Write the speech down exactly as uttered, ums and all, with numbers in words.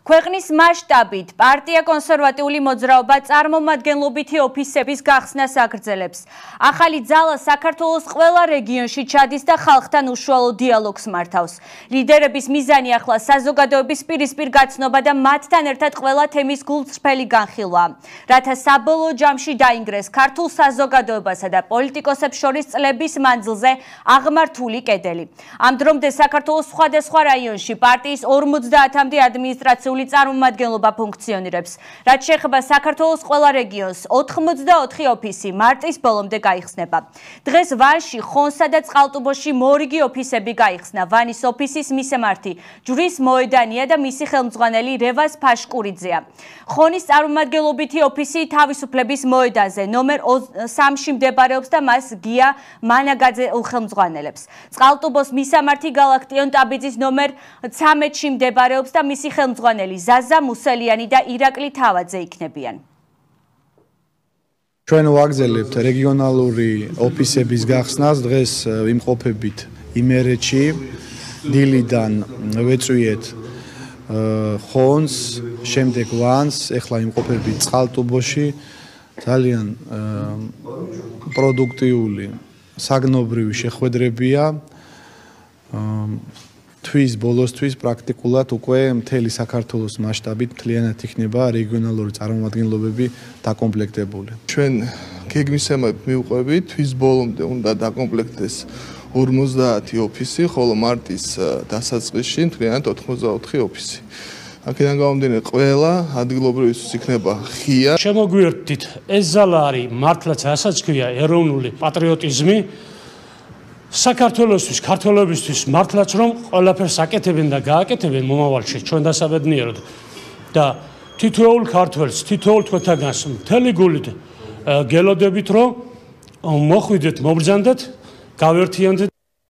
ქვეყნის მასშტაბით პარტია კონსერვატიული მოძრაობა წარმომადგენლობითი ოფისების გახსნას აგრძელებს. ახალი ძალა საქართველოს ყველა რეგიონში ჩადის და ხალხთან უშუალო დიალოგს მართავს. ლიდერების მიზანი ახლა საზოგადოების პირისპირ გაცნობა და მათთან ერთად ყველა თემის გულწრფელი განხილვა, რათა საბოლოო ჯამში დაინგრეს ქართულ საზოგადოებასა და პოლიტიკოსებს შორის წლების მანძილზე აღმართული კედელი. ამ დრომდე საქართველოს სხვადასხვა რაიონში პარტიის ორმოცდაათამდე ადმინისტრაციული წარმომადგენლობა ფუნქციონირებს. რაც შეეხება საქართველოს ყველა რეგიონს, ოთხმოცდაოთხი ოფისი მარტის ბოლომდე გაიხსნება. დღეს ვანში, ხონსა და წყალტუბოში მორიგი ოფისები გაიხსნა. ვანის ოფისის მისამართი ჯვრის მოედანია და მისი ხელმძღვანელი რევაზ ფაშკურიძეა. ხონის წარმომადგენლობითი ოფისი თავისუფლების მოედანზე ნომერ სამში მდებარეობს და მას გია მანაგაძე ხელმძღვანელებს. წყალტუბოს მისამართი გალაქტიონ ტაბიძის ნომერ ცამეტში მდებარეობს და მისი ხელმძღვანელი ზაზა მუსელიანი და ირაკლი თავაძე იქნებიან. ჩვენ ვაგრძელებთ რეგიონალური ოფისების გახსნას. დღეს ვიმყოფებით იმერეთში, დილიდან ვეწვიეთ ხონს, შემდეგ ვანს, ეხლა ვიმყოფებით წყალტუბოში. ძალიან პროდუქტიული, საგნობრივი შეხვედრებია. თვის ბოლოსთვის პრაქტიკულად უკვე მთელი საქართველოს მასშტაბით მთლიანად იქნება რეგიონალური წარმომადგენლობები დაკომპლექტებული. ჩვენ გეგმისამებრ მივყვებით, თვის ბოლომდე უნდა დაკომპლექტდეს ორმოცდაათი ოფისი, ხოლო მარტის დასაწყისში მთლიანად ოთხმოცდაოთხი ოფისი. აქედან გამომდინარე ყველა ადგილობრივისთვის იქნება ღია. შემოგვიერთდით, ეს ზალა არის მართლაც რასაც ქვია ეროვნული პატრიოტიზმი. საქართველოსთვის, ქართველებისთვის მართლაც რომ ყველაფერს აკეთებენ და გააკეთებენ მომავალში ჩვენ დასაბედნიეროდ და თითოეულ ქართველს, თითოეულ თქვენთაგანს მთელი გულით გელოდებით რომ მოხვიდეთ, მობრძანდეთ, გავერთიანდეთ.